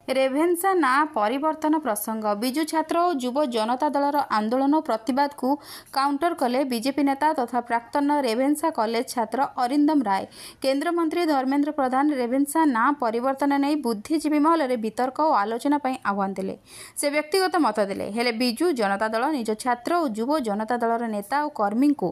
Ravenshaw ନାଁ ପରିବର୍ତ୍ତନ ପ୍ରସଙ୍ଗ। ବିଜୁ ଛାତ୍ର ଓ ଯୁବ ଜନତା ଦଳର ଆନ୍ଦୋଳନ ଓ ପ୍ରତିବାଦକୁ କାଉଣ୍ଟର କଲେ ବିଜେପି ନେତା ତଥା ପ୍ରାକ୍ତନ ରେଭେନ୍ସା କଲେଜ ଛାତ୍ର ଅରିନ୍ଦମ ରାୟ। କେନ୍ଦ୍ରମନ୍ତ୍ରୀ ଧର୍ମେନ୍ଦ୍ର ପ୍ରଧାନ ରେଭେନ୍ସା ନାଁ ପରିବର୍ତ୍ତନ ନେଇ ବୁଦ୍ଧିଜୀବୀ ମହଲରେ ବିତର୍କ ଓ ଆଲୋଚନା ପାଇଁ ଆହ୍ୱାନ ଦେଲେ। ସେ ବ୍ୟକ୍ତିଗତ ମତ ଦେଲେ, ହେଲେ ବିଜୁ ଜନତା ଦଳ ନିଜ ଛାତ୍ର ଓ ଯୁବ ଜନତା ଦଳର ନେତା ଓ କର୍ମୀଙ୍କୁ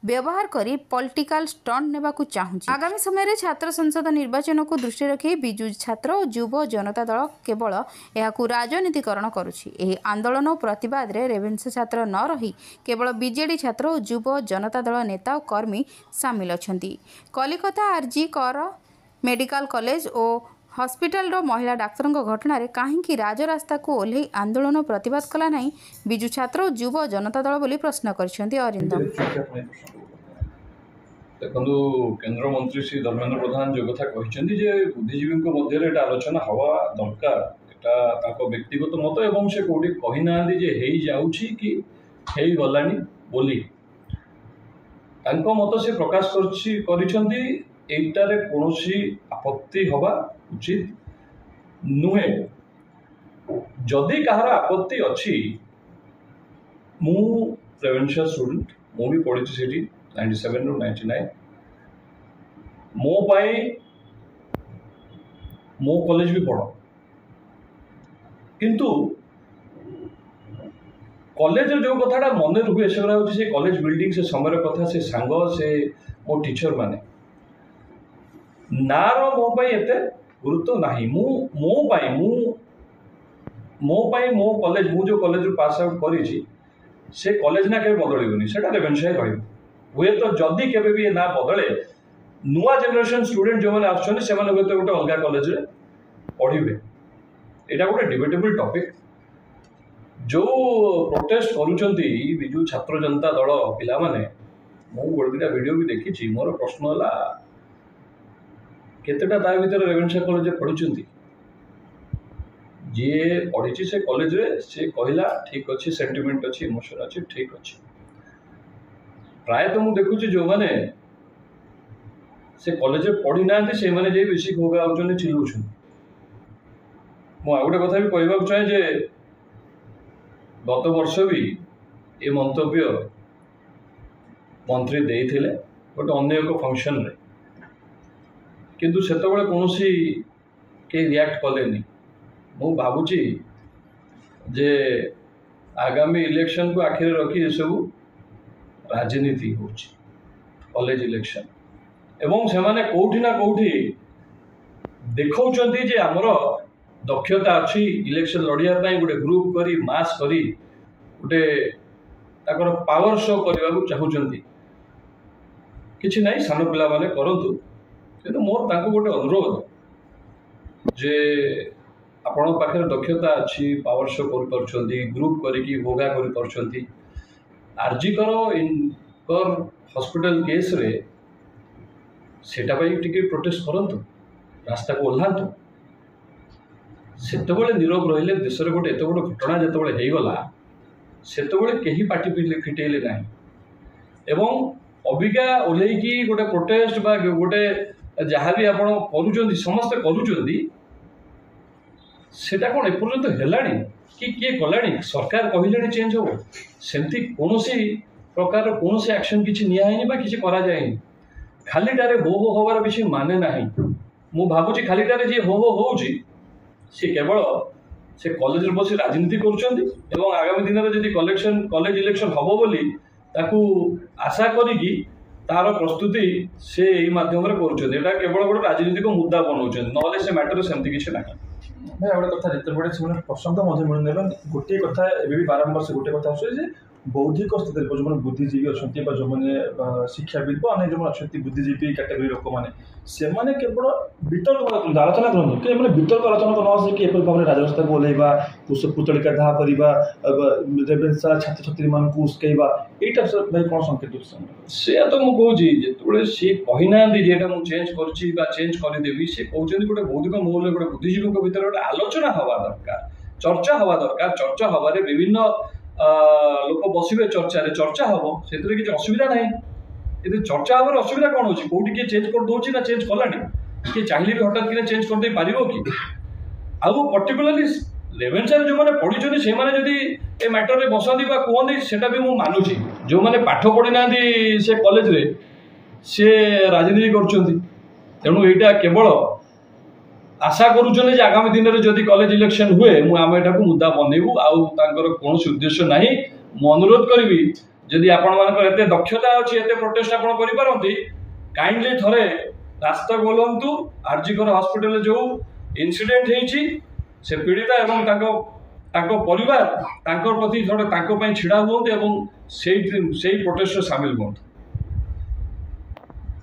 ବ୍ୟବହାର କରି ପଲିଟିକାଲ ଷ୍ଟଣ୍ଟ ନେବାକୁ ଚାହୁଁଛି। ଆଗାମୀ ସମୟରେ ଛାତ୍ର ସଂସଦ ନିର୍ବାଚନକୁ ଦୃଷ୍ଟିରେ ରଖି ବିଜୁ ଛାତ୍ର ଓ ଯୁବ ଜନତା ଦଳ କେବଳ ଏହାକୁ ରାଜନୀତିକରଣ କରୁଛି। ଏହି ଆନ୍ଦୋଳନ ଓ ପ୍ରତିବାଦରେ ରେଭେନ୍ସା ଛାତ୍ର ନ ରହି କେବଳ ବିଜେଡି ଛାତ୍ର ଓ ଯୁବ ଜନତା ଦଳ ନେତା ଓ କର୍ମୀ ସାମିଲ ଅଛନ୍ତି। କଲିକତା ଆର୍ଜି କର ମେଡିକାଲ କଲେଜ ଓ ହସ୍ପିଟାଲର ମହିଳା ଡାକ୍ତରଙ୍କ ଘଟଣାରେ କାହିଁକି ରାଜରାସ୍ତାକୁ ଓହ୍ଲାଇ ଆନ୍ଦୋଳନ ଓ ପ୍ରତିବାଦ କଲା ନାହିଁ ବିଜୁ ଛାତ୍ର ଓ ଯୁବ ଜନତା ଦଳ ବୋଲି ପ୍ରଶ୍ନ କରିଛନ୍ତି ଅରିନ୍ଦମ। ଦେଖନ୍ତୁ, କେନ୍ଦ୍ରମନ୍ତ୍ରୀ ଶ୍ରୀ ଧର୍ମେନ୍ଦ୍ର ପ୍ରଧାନ ଯେଉଁ କଥା କହିଛନ୍ତି ଯେ ବୁଦ୍ଧିଜୀବୀଙ୍କ ମଧ୍ୟରେ ଏଇଟା ଆଲୋଚନା ହେବା ଦରକାର, ଏଟା ତାଙ୍କ ବ୍ୟକ୍ତିଗତ ମତ ଏବଂ ସେ କେଉଁଠି କହିନାହାନ୍ତି ଯେ ହେଇଯାଉଛି କି ହେଇଗଲାଣି ବୋଲି। ତାଙ୍କ ମତ ସେ ପ୍ରକାଶ କରିଛନ୍ତି। ଏଇଟାରେ କୌଣସି ଆପତ୍ତି ହେବା ଉଚିତ ନୁହେଁ। ଯଦି କାହାର ଆପତ୍ତି ଅଛି, ମୁଁ ରେଭେନ୍ସା ଷ୍ଟୁଡେଣ୍ଟ, ମୁଁ ବି ପଢ଼ିଛି ସେଠି 97ରୁ 99। ମୋ ପାଇଁ ମୋ କଲେଜ ବି ବଡ଼, କିନ୍ତୁ କଲେଜର ଯେଉଁ କଥାଟା ମନେ ରୁହେ ସେଗୁଡ଼ା ହେଉଛି ସେ କଲେଜ ବିଲ୍ଡିଂ, ସେ ସମୟର କଥା, ସେ ସାଙ୍ଗ, ସେ ମୋ ଟିଚର ମାନେ। ନାଁର ମୋ ପାଇଁ ଏତେ ଗୁରୁତ୍ୱ ନାହିଁ। ମୁଁ ମୋ ପାଇଁ ମୁଁ ମୋ ପାଇଁ ମୋ କଲେଜ, ମୁଁ ଯେଉଁ କଲେଜରୁ ପାସ୍ ଆଉଟ୍ କରିଛି ସେ କଲେଜ ନା କେବେ ବଦଳିବନି, ସେଇଟା ରେଭେନ୍ସା ହିଁ ରହିବ। ହୁଏତ ଯଦି କେବେ ବି ଏ ନାଁ ବଦଳେ, ନୂଆ ଜେନେରେସନ୍ ଷ୍ଟୁଡେଣ୍ଟ ଯେଉଁମାନେ ଆସୁଛନ୍ତି ସେମାନେ ହୁଏତ ଗୋଟେ ଅଲଗା କଲେଜରେ ପଢ଼ିବେ। ଏଇଟା ଗୋଟେ ଡିବେଟେବଲ୍ ଟପିକ୍। ଯେଉଁ ପ୍ରୋଟେଷ୍ଟ କରୁଛନ୍ତି ବିଜୁ ଛାତ୍ର ଜନତା ଦଳ ପିଲାମାନେ, ମୁଁ ଗୋଟେ ଦୁଇଟା ଭିଡ଼ିଓ ବି ଦେଖିଛି। ମୋର ପ୍ରଶ୍ନ ହେଲା, କେତେଟା ତା ଭିତରେ ରେଭେନ୍ସା କଲେଜରେ ପଢ଼ିଛନ୍ତି? ଯିଏ ପଢ଼ିଛି ସେ କଲେଜରେ ସେ କହିଲା ଠିକ୍ ଅଛି, ସେଣ୍ଟିମେଣ୍ଟ ଅଛି, ଇମୋସନ୍ ଅଛି, ଠିକ୍ ଅଛି। ପ୍ରାୟତଃ ମୁଁ ଦେଖୁଛି ଯେଉଁମାନେ ସେ କଲେଜରେ ପଢ଼ିନାହାନ୍ତି ସେଇମାନେ ଯାଇ ବେଶୀ ଘୋ ଘା ହେଉଛନ୍ତି, ଚିଲଉଛନ୍ତି। ମୁଁ ଆଉ ଗୋଟେ କଥା ବି କହିବାକୁ ଚାହେଁ ଯେ ଗତ ବର୍ଷ ବି ଏ ମନ୍ତବ୍ୟ ମନ୍ତ୍ରୀ ଦେଇଥିଲେ ଗୋଟେ ଅନ୍ୟ ଏକ ଫଙ୍କସନରେ, କିନ୍ତୁ ସେତେବେଳେ କୌଣସି କେହି ରିଆକ୍ଟ କଲେନି। ମୁଁ ଭାବୁଛି ଯେ ଆଗାମୀ ଇଲେକ୍ସନକୁ ଆଖିରେ ରଖି ଏସବୁ ରାଜନୀତି ହେଉଛି, କଲେଜ ଇଲେକ୍ସନ, ଏବଂ ସେମାନେ କେଉଁଠି ନା କେଉଁଠି ଦେଖାଉଛନ୍ତି ଯେ ଆମର ଦକ୍ଷତା ଅଛି ଇଲେକ୍ସନ ଲଢ଼ିବା ପାଇଁ। ଗୋଟେ ଗ୍ରୁପ୍ କରି ମାସ୍ କରି ଗୋଟେ ତାଙ୍କର ପାୱାର ଶୋ କରିବାକୁ ଚାହୁଁଛନ୍ତି। କିଛି ନାହିଁ, ସାନ ପିଲାମାନେ କରନ୍ତୁ, କିନ୍ତୁ ମୋର ତାଙ୍କୁ ଗୋଟେ ଅନୁରୋଧ ଯେ ଆପଣଙ୍କ ପାଖରେ ଦକ୍ଷତା ଅଛି, ପାୱାର ଶୋ କରିପାରୁଛନ୍ତି, ଗ୍ରୁପ୍ କରିକି ଘୋଘା କରିପାରୁଛନ୍ତି, ଆର୍ଜିକର ଇନକର ହସ୍ପିଟାଲ କେସ୍ରେ ସେଇଟା ପାଇଁ ଟିକେ ପ୍ରୋଟେଷ୍ଟ କରନ୍ତୁ, ରାସ୍ତାକୁ ଓହ୍ଲାନ୍ତୁ। ସେତେବେଳେ ନୀରବ ରହିଲେ। ଦେଶରେ ଗୋଟେ ଏତେ ବଡ଼ ଘଟଣା ଯେତେବେଳେ ହେଇଗଲା ସେତେବେଳେ କେହି ପାଟି ଫିଟେଇଲେ ନାହିଁ ଏବଂ ଅବିକା ଓହ୍ଲେଇକି ଗୋଟେ ପ୍ରୋଟେଷ୍ଟ ବା ଗୋଟେ ଯାହା ବି ଆପଣ କରୁଛନ୍ତି, ସମସ୍ତେ କରୁଛନ୍ତି, ସେଇଟା କ'ଣ ଏପର୍ଯ୍ୟନ୍ତ ହେଲାଣି କି କିଏ କଲାଣି? ସରକାର କହିଲେଣି ଚେଞ୍ଜ ହେବ, ସେମିତି କୌଣସି ପ୍ରକାରର କୌଣସି ଆକ୍ସନ୍ କିଛି ନିଆ ହେଇନି ବା କିଛି କରାଯାଇନି। ଖାଲିଟାରେ ହୋ ହୋ ହେବାର କିଛି ମାନେ ନାହିଁ। ମୁଁ ଭାବୁଛି ଖାଲିଟାରେ ଯିଏ ହୋ ହୋ ହେଉଛି ସେ କେବଳ ସେ କଲେଜରେ ବସି ରାଜନୀତି କରୁଛନ୍ତି ଏବଂ ଆଗାମୀ ଦିନରେ ଯଦି କଲେଜ ଇଲେକ୍ସନ୍ ହେବ ବୋଲି ତାକୁ ଆଶା କରିକି ତାର ପ୍ରସ୍ତୁତି ସେ ଏଇ ମାଧ୍ୟମରେ କରୁଛନ୍ତି। ଏଇଟା କେବଳ ଗୋଟେ ରାଜନୀତିକ ମୁଦ୍ଦା ବନାଉଛନ୍ତି, ନହେଲେ ସେ ମ୍ୟାଟରରେ ସେମିତି କିଛି ନାହିଁ। ଭାଇ, ଆଉ ଗୋଟେ କଥା, ଯେତେବେଳେ ସେମାନେ ପ୍ରସଙ୍ଗ ମଧ୍ୟ ମିଳୁନି ଏବଂ ଗୋଟିଏ କଥା ଏବେ ବି ବାରମ୍ବାର ସେ ଗୋଟିଏ କଥା ଆସୁଛି ଯେ ବୌଦ୍ଧିକ ସ୍ଥିତିରେ ଯେଉଁମାନେ ବୁଦ୍ଧିଜୀବୀ ଅଛନ୍ତି ବା ଯେଉଁମାନେ ଶିକ୍ଷାବିତ୍ ବା ଅନ୍ୟ ଯେଉଁମାନେ ଅଛନ୍ତି ବୁଦ୍ଧିଜୀବୀ କାଟେଗୋରୀ ଲୋକମାନେ, ସେମାନେ କେବଳ ବିତର୍କ କରନ୍ତୁ, ଆଲୋଚନା କରନ୍ତୁ, କିନ୍ତୁ ଏମାନେ ବିତର୍କ ଆଲୋଚନା ନ ଆସିକି ଏପରି ଭାବରେ ରାଜରାସ୍ତାକୁ ଓହ୍ଲାଇବା, କୁଶପୁତ୍ତଳିକା ଦାହ କରିବା, ରେଭେନ୍ସା ଛାତ୍ରଛାତ୍ରୀମାନଙ୍କୁ ଉସ୍କେଇବା, ଏଇଟା ଭାଇ କ'ଣ ସଂକେତ ଦେଉଛି? ସେୟା ତ ମୁଁ କହୁଛି, ଯେତେବେଳେ ସିଏ କହିନାହାନ୍ତି ଯେ ଏଇଟା ମୁଁ ଚେଞ୍ଜ କରୁଛି ବା ଚେଞ୍ଜ କରିଦେବି, ସେ କହୁଛନ୍ତି ଗୋଟେ ବୌଦ୍ଧିକ ମହଲରେ ଗୋଟେ ବୁଦ୍ଧିଜୀବୀଙ୍କ ଭିତରେ ଗୋଟେ ଆଲୋଚନା ହେବା ଦରକାର, ଚର୍ଚ୍ଚା ହେବା ଦରକାର। ଚର୍ଚ୍ଚା ହେବାରେ ବିଭିନ୍ନ ଲୋକ ବସିବେ, ଚର୍ଚ୍ଚାରେ ଚର୍ଚ୍ଚା ହେବ, ସେଥିରେ କିଛି ଅସୁବିଧା ନାହିଁ। ଏଥିରେ ଚର୍ଚ୍ଚା ହେବାର ଅସୁବିଧା କ'ଣ ହେଉଛି? କେଉଁଠି କିଏ ଚେଞ୍ଜ କରିଦେଉଛି ନା ଚେଞ୍ଜ କଲାଣି? କିଏ ଚାହିଁଲେ ବି ହଠାତ୍ କିନା ଚେଞ୍ଜ କରିଦେଇ ପାରିବ କି? ଆଉ ପର୍ଟିକୁଲାରଲି ରେଭେନ୍ସାରେ ଯେଉଁମାନେ ପଢ଼ିଛନ୍ତି, ସେମାନେ ଯଦି ଏ ମ୍ୟାଟରରେ ବସନ୍ତି ବା କୁହନ୍ତି, ସେଇଟା ବି ମୁଁ ମାନୁଛି। ଯେଉଁମାନେ ପାଠ ପଢ଼ିନାହାନ୍ତି ସେ କଲେଜରେ, ସେ ରାଜନୀତି କରୁଛନ୍ତି। ତେଣୁ ଏଇଟା କେବଳ ଆଶା କରୁଛନ୍ତି ଯେ ଆଗାମୀ ଦିନରେ ଯଦି କଲେଜ ଇଲେକ୍ସନ ହୁଏ, ଆମେ ଏଟାକୁ ମୁଦ୍ଦା ବନେଇବୁ, ଆଉ ତାଙ୍କର କୌଣସି ଉଦ୍ଦେଶ୍ୟ ନାହିଁ। ମୁଁ ଅନୁରୋଧ କରିବି, ଯଦି ଆପଣମାନଙ୍କର ଏତେ ଦକ୍ଷତା ଅଛି, ଏତେ ପ୍ରୋଟେଷ୍ଟ ଆପଣ କରିପାରନ୍ତି, କାଇଣ୍ଡଲି ଥରେ ରାସ୍ତାକୁ ଓହ୍ଲାନ୍ତୁ। ଆରଜିକର ହସ୍ପିଟାଲରେ ଯେଉଁ ଇନସିଡେଣ୍ଟ ହେଇଛି, ସେ ପୀଡ଼ିତା ଏବଂ ତାଙ୍କ ପରିବାର, ତାଙ୍କ ପ୍ରତି ଥରେ ତାଙ୍କ ପାଇଁ ଛିଡ଼ା ହୁଅନ୍ତୁ ଏବଂ ସେଇ ପ୍ରୋଟେଷ୍ଟରେ ସାମିଲ ହୁଅନ୍ତୁ।